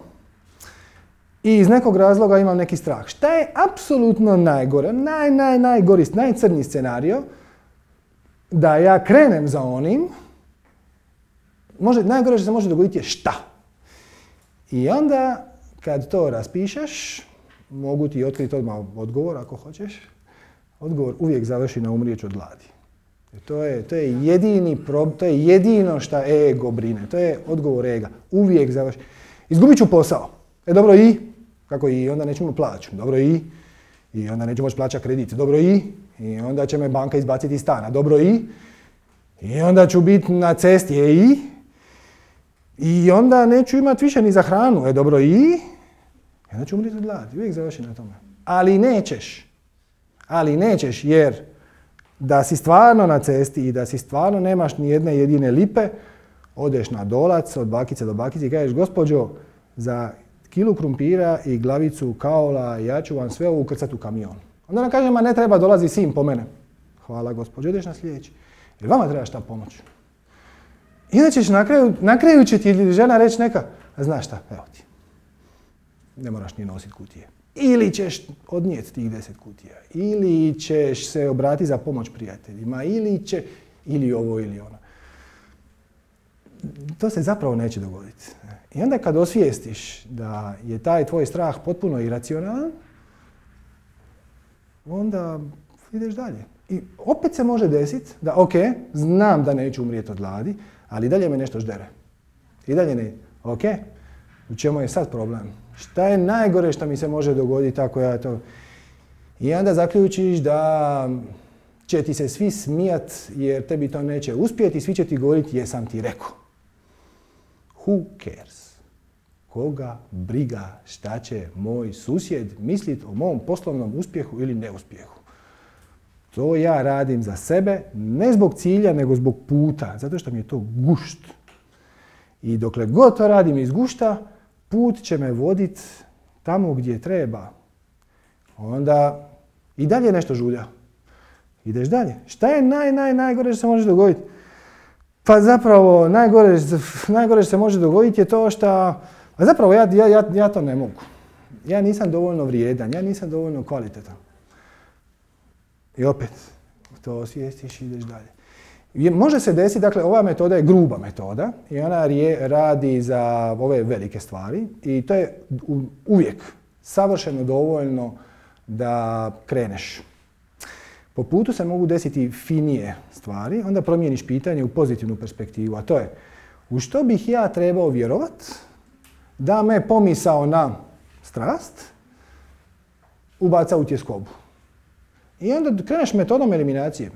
S1: i iz nekog razloga imam neki strah. Šta je apsolutno najgore, naj, naj, najgori, najcrnji scenario da ja krenem za onim, može, najgore što se može dogoditi je šta? I onda kad to raspišeš, mogu ti otkriti odmah odgovor ako hoćeš. Odgovor uvijek završi na umrijeću od gladi. To je, to je jedini prob, to je jedino šta ego brine. To je odgovor ega. Uvijek završi. Izgubit ću posao. E dobro i? Kako i? Onda neću mu plaću. Dobro i? I onda neću moći plaćati kredit. Dobro i? I onda će me banka izbaciti iz stana. Dobro i? I onda ću biti na cesti. E i? I onda neću imati više ni za hranu. E dobro i? I onda ću umriti od gladi. Uvijek završi na tome. Ali nećeš. Ali nećeš jer da si stvarno na cesti i da si stvarno nemaš ni jedne jedine lipe, odeš na dolac od bakice do bakice i kažeš gospođo, za kilu krumpira i glavicu kaola ja ću vam sve ovo ukrcati u kamion. Onda nam kaže, ma ne treba, dolazi sin po mene. Hvala gospođo, ideš na sljedeći. Jer vama treba šta pomoć. I onda ćeš na kraju, na kraju će ti žena reći neka, a znaš šta, evo ti. Ne moraš ni nositi kutije. Ili ćeš odnijeti tih deset kutija, ili ćeš se obratiti za pomoć prijateljima, ili će, ili ovo, ili ono. To se zapravo neće dogoditi. I onda kad osvijestiš da je taj tvoj strah potpuno iracionalan, onda ideš dalje. I opet se može desiti da, ok, znam da neću umrijeti od gladi, ali dalje me nešto ždere. I dalje ne, ok, u čemu je sad problem? Šta je najgore što mi se može dogoditi ako ja to... I onda zaključiš da će ti se svi smijat jer tebi to neće uspjeti i svi će ti govoriti jesam ti rekao. Who cares? Koga briga šta će moj susjed misliti o mom poslovnom uspjehu ili neuspjehu? To ja radim za sebe, ne zbog cilja, nego zbog puta, zato što mi je to gušt. I dokle god to radim iz gušta, put će me voditi tamo gdje treba. Onda i dalje nešto žulja. Ideš dalje. Šta je naj, naj, najgore što se može dogoditi? Pa zapravo najgore, najgore što se može dogoditi je to što... A zapravo ja, ja, ja, ja to ne mogu. Ja nisam dovoljno vrijedan, ja nisam dovoljno kvalitetan. I opet to osvijestiš i ideš dalje. Može se desiti, dakle, ova metoda je gruba metoda i ona je, radi za ove velike stvari i to je uvijek savršeno dovoljno da kreneš. Po putu se mogu desiti finije stvari, onda promijeniš pitanje u pozitivnu perspektivu, a to je u što bih ja trebao vjerovat da me pomisao na strast ubaca u tjeskobu. I onda kreneš metodom eliminacije.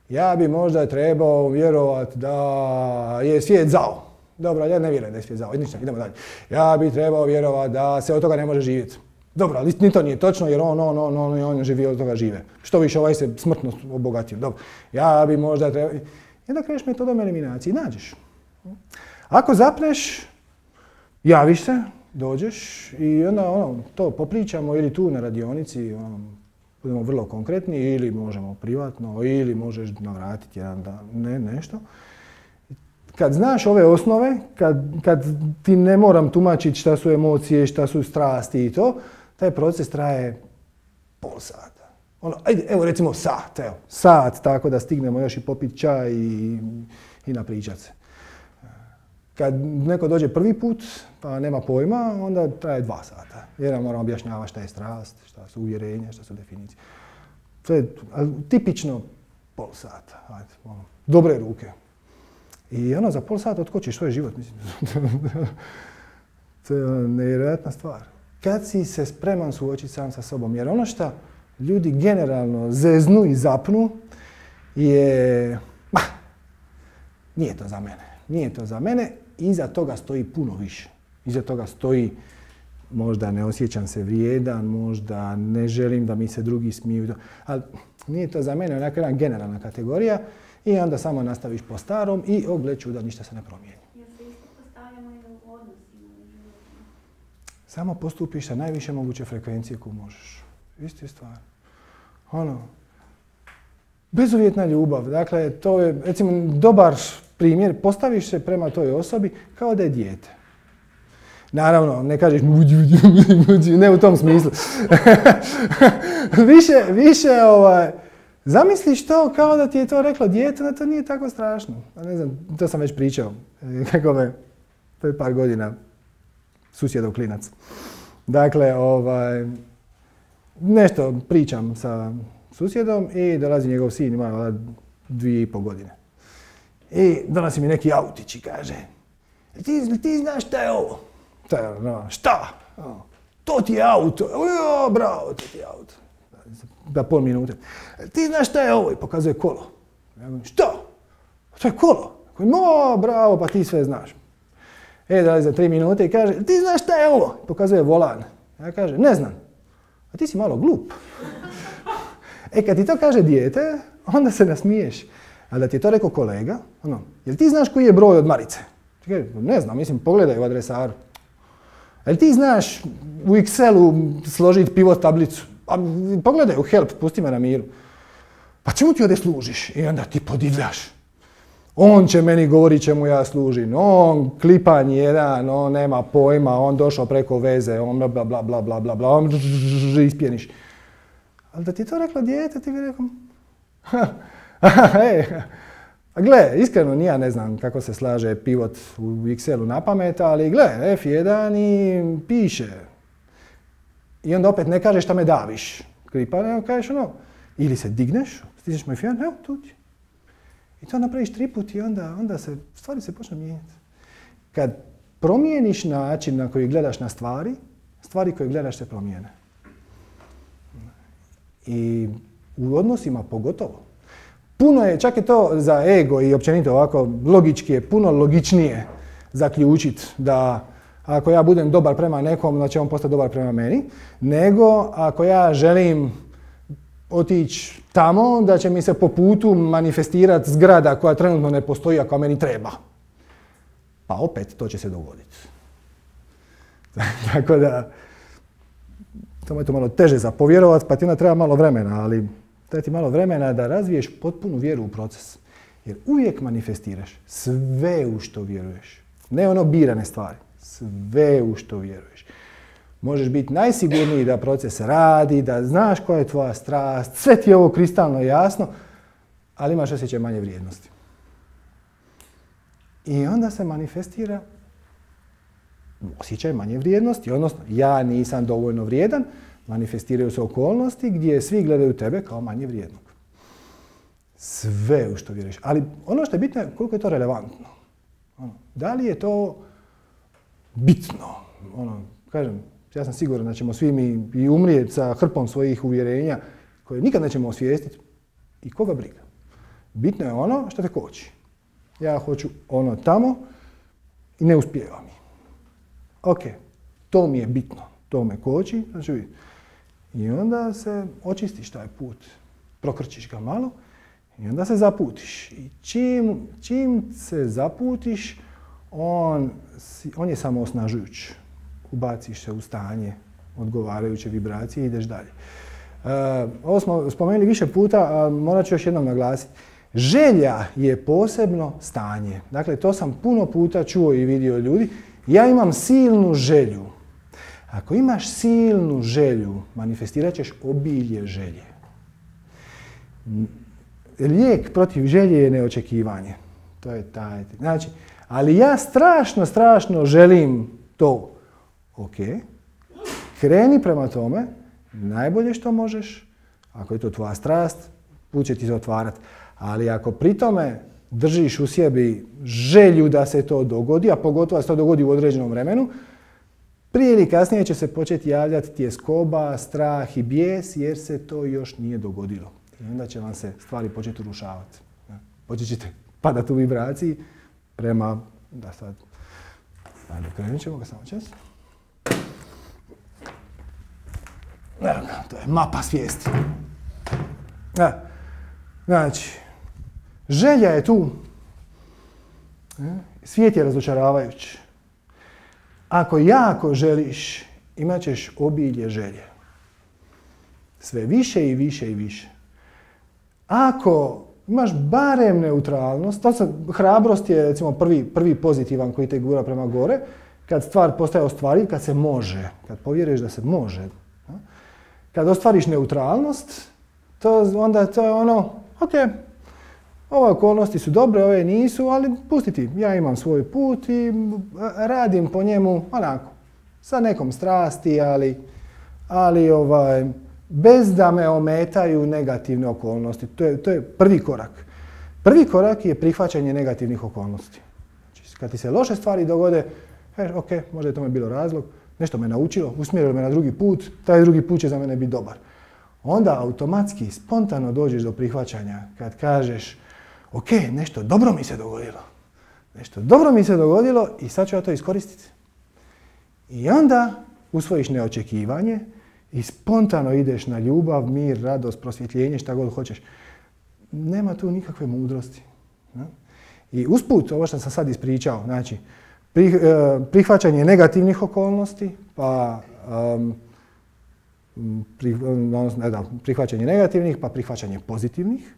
S1: Ja bi možda trebao vjerovat da je svijet zao. Dobro, ja ne vjerujem da je svijet zao. Ništa, idemo dalje. Ja bi trebao vjerovat da se od toga ne može živjeti. Dobro, ali ni to nije točno jer on, on, on, on, on živi od toga žive. Što više ovaj se smrtno obogatio. Dobro, ja bi možda trebao... I onda kreneš metodom eliminacije i nađeš. Ako zapneš, javiš se, dođeš i onda ono, to popričamo ili tu na radionici, ono, budemo vrlo konkretni ili možemo privatno ili možeš navratiti jedan dan, ne, nešto. Kad znaš ove osnove, kad, kad ti ne moram tumačiti šta su emocije, šta su strasti i to, taj proces traje pol sata. Ono, ajde, evo recimo sat, evo, sat tako da stignemo još i popiti čaj i, i napričat se. Kad neko dođe prvi put, pa nema pojma, onda traje dva sata. Jer nam moramo objašnjavati šta je strast, šta su uvjerenja, šta su definicije. To je tipično pol sata. Ajde, ono, dobre ruke. I ono, za pol sata otkočiš svoj život, mislim. To je nevjerojatna stvar. Kad si se spreman suočiti sam sa sobom, jer ono što ljudi generalno zeznu i zapnu je, bah, nije to za mene, nije to za mene, iza toga stoji puno više. Iza toga stoji, možda ne osjećam se vrijedan, možda ne želim da mi se drugi smiju, ali nije to za mene, onako jedna generalna kategorija i onda samo nastaviš po starom i o gle čuda, ništa se ne promijeni. Samo postupiš sa najviše moguće frekvencije koju možeš. Isti stvar. Ono, bezuvjetna ljubav. Dakle, to je, recimo, dobar primjer. Postaviš se prema toj osobi kao da je dijete. Naravno, ne kažeš ne u tom smislu. više, više, ovaj, zamisliš to kao da ti je to reklo dijete, da to nije tako strašno. Ne znam, to sam već pričao. Kako me, pred par godina, susjedov klinac. Dakle, ovaj, nešto pričam sa susjedom i dolazi njegov sin, ima dvije i pol godine. I donosi mi neki autić i kaže, ti, ti znaš šta je ovo? Ta, no, šta? No, to ti je auto. O, bravo, to ti je auto. Da pol minute. Ti znaš šta je ovo? I pokazuje kolo. Ja govorim, što? To je kolo. No, bravo, pa ti sve znaš. E, dali za tri minute i kaže, ti znaš šta je ovo? Pokazuje volan. Ja kaže, ne znam. A ti si malo glup. E, kad ti to kaže dijete, onda se nasmiješ. A da ti je to rekao kolega, ono, jel ti znaš koji je broj od Marice? Ti kaže, ne znam, mislim, pogledaj u adresaru. Jel ti znaš u Excelu složiti pivot tablicu? Pa pogledaj u help, pusti me na miru. Pa čemu ti ovdje služiš? I onda ti podivljaš. On će meni govoriti čemu ja služim. On klipan jedan, on nema pojma, on došao preko veze, on bla bla bla bla bla bla bla, on ispjeniš. Ali da ti to reklo dijete, ti bi rekao, ej, gle, iskreno ni ja ne znam kako se slaže pivot u Excelu na pamet, ali gle, F jedan i piše. I onda opet ne kažeš šta me daviš. Klipa, nego kažeš ono, ili se digneš, stisneš moj F jedan, evo tu ti. I to napraviš tri put i onda, onda se, stvari se počnu mijenjati. Kad promijeniš način na koji gledaš na stvari, stvari koje gledaš se promijene. I u odnosima pogotovo. Puno je, čak i to za ego i općenito ovako logički je puno logičnije zaključiti da ako ja budem dobar prema nekom, da će on postati dobar prema meni, nego ako ja želim otići tamo, da će mi se po putu manifestirati zgrada koja trenutno ne postoji, ako meni treba. Pa opet to će se dogoditi. Tako da, to je to malo teže za povjerovati, pa ti onda treba malo vremena, ali treba ti malo vremena da razviješ potpunu vjeru u proces. Jer uvijek manifestiraš sve u što vjeruješ. Ne ono birane stvari, sve u što vjeruješ. Možeš biti najsigurniji da proces radi, da znaš koja je tvoja strast, sve ti je ovo kristalno jasno, ali imaš osjećaj manje vrijednosti. I onda se manifestira osjećaj manje vrijednosti, odnosno ja nisam dovoljno vrijedan, manifestiraju se okolnosti gdje svi gledaju tebe kao manje vrijednog. Sve u što vjeruješ. Ali ono što je bitno je koliko je to relevantno. Ono, da li je to bitno? Ono, kažem, ja sam siguran da ćemo svi mi i umrijeti sa hrpom svojih uvjerenja koje nikad nećemo osvijestiti. I koga briga? Bitno je ono što te koči. Ja hoću ono tamo i ne uspijeva mi. Ok, to mi je bitno. To me koči, znači i onda se očistiš taj put. Prokrčiš ga malo i onda se zaputiš. I čim, čim se zaputiš, on, on je samo osnažujuć. Ubaciš se u stanje odgovarajuće vibracije i ideš dalje. Uh, ovo smo spomenuli više puta, a morat ću još jednom naglasiti. Želja je posebno stanje. Dakle, to sam puno puta čuo i vidio ljudi. Ja imam silnu želju. Ako imaš silnu želju, manifestirat ćeš obilje želje. Lijek protiv želje je neočekivanje. To je taj. Znači, ali ja strašno, strašno želim to. Ok, kreni prema tome, najbolje što možeš, ako je to tvoja strast, put će ti se otvarati. Ali ako pri tome držiš u sebi želju da se to dogodi, a pogotovo da se to dogodi u određenom vremenu, prije ili kasnije će se početi javljati tjeskoba, strah i bijes jer se to još nije dogodilo. I onda će vam se stvari početi urušavati. Počet ćete padati u vibraciji prema... Da sad... Ajde, krenut ćemo ga samo čas. Evo ga, to je mapa svijesti. Ja. Znači, želja je tu. Svijet je razočaravajući. Ako jako želiš, imat ćeš obilje želje. Sve više i više i više. Ako imaš barem neutralnost, to sad, hrabrost je recimo prvi, prvi pozitivan koji te gura prema gore, kad stvar postaje ostvariv, kad se može, kad povjeriš da se može. Kad ostvariš neutralnost, to onda to je ono, ok, ove okolnosti su dobre, ove nisu, ali pusti ti, ja imam svoj put i radim po njemu onako, sa nekom strasti, ali, ali ovaj, bez da me ometaju negativne okolnosti. To je, to je prvi korak. Prvi korak je prihvaćanje negativnih okolnosti. Znači, kad ti se loše stvari dogode, kažeš, ok, možda je tome bilo razlog, nešto me naučilo, usmjerilo me na drugi put, taj drugi put će za mene biti dobar. Onda automatski, spontano dođeš do prihvaćanja kad kažeš, ok, nešto dobro mi se dogodilo. Nešto dobro mi se dogodilo i sad ću ja to iskoristiti. I onda usvojiš neočekivanje i spontano ideš na ljubav, mir, radost, prosvjetljenje, šta god hoćeš. Nema tu nikakve mudrosti. I usput, ovo što sam sad ispričao, znači, prihvaćanje negativnih okolnosti, pa um, ne da, prihvaćanje negativnih, pa prihvaćanje pozitivnih,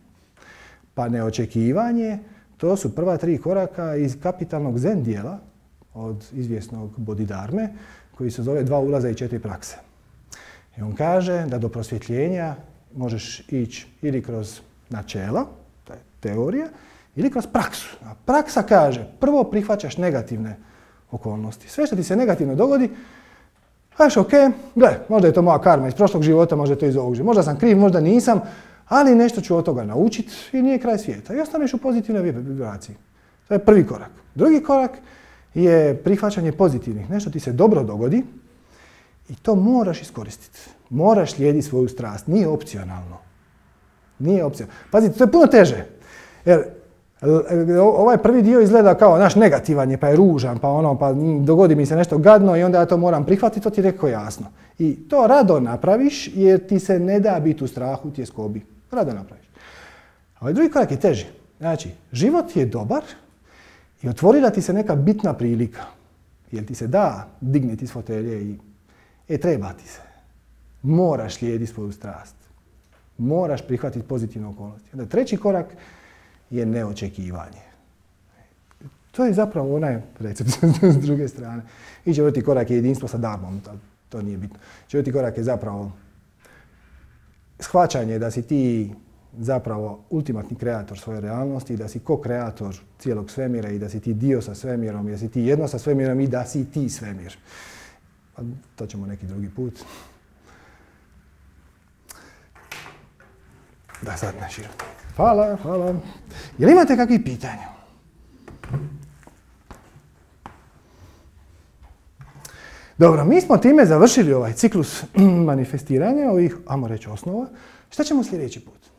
S1: pa neočekivanje, to su prva tri koraka iz kapitalnog zen dijela od izvjesnog Bodhidharme, koji se zove Dva ulaza i četiri prakse. I on kaže da do prosvjetljenja možeš ići ili kroz načela, to je teorija, ili kroz praksu. A praksa kaže, prvo prihvaćaš negativne okolnosti. Sve što ti se negativno dogodi, kažeš, ok, gle, možda je to moja karma iz prošlog života, možda je to iz ovog života. Možda sam kriv, možda nisam, ali nešto ću od toga naučiti i nije kraj svijeta. I ostaneš u pozitivnoj vibraciji. To je prvi korak. Drugi korak je prihvaćanje pozitivnih. Nešto ti se dobro dogodi i to moraš iskoristiti. Moraš slijediti svoju strast. Nije opcionalno. Nije opcionalno. Pazite, to je puno teže. Jer ovaj prvi dio izgleda kao naš negativan je, pa je ružan, pa ono, pa dogodi mi se nešto gadno i onda ja to moram prihvatiti, to ti je rekao jasno. I to rado napraviš jer ti se ne da biti u strahu, tjeskobi. Rado napraviš. A ovaj drugi korak je teži. Znači, život je dobar i otvorila ti se neka bitna prilika. Jer ti se da digniti iz fotelje i e, treba ti se. Moraš slijediti svoju strast. Moraš prihvatiti pozitivne okolnosti. Onda treći korak je neočekivanje. To je zapravo onaj recept s druge strane. I četvrti korak je jedinstvo sa dharmom, to, to nije bitno. Četvrti korak je zapravo shvaćanje da si ti zapravo ultimatni kreator svoje realnosti, da si ko-kreator cijelog svemira i da si ti dio sa svemirom, da si ti jedno sa svemirom i da si ti svemir. A to ćemo neki drugi put. Da sad ne širim. Hvala, hvala. Jel imate kakvih pitanja? Dobro, mi smo time završili ovaj ciklus manifestiranja, ovih, ajmo reći, osnova. Šta ćemo sljedeći put?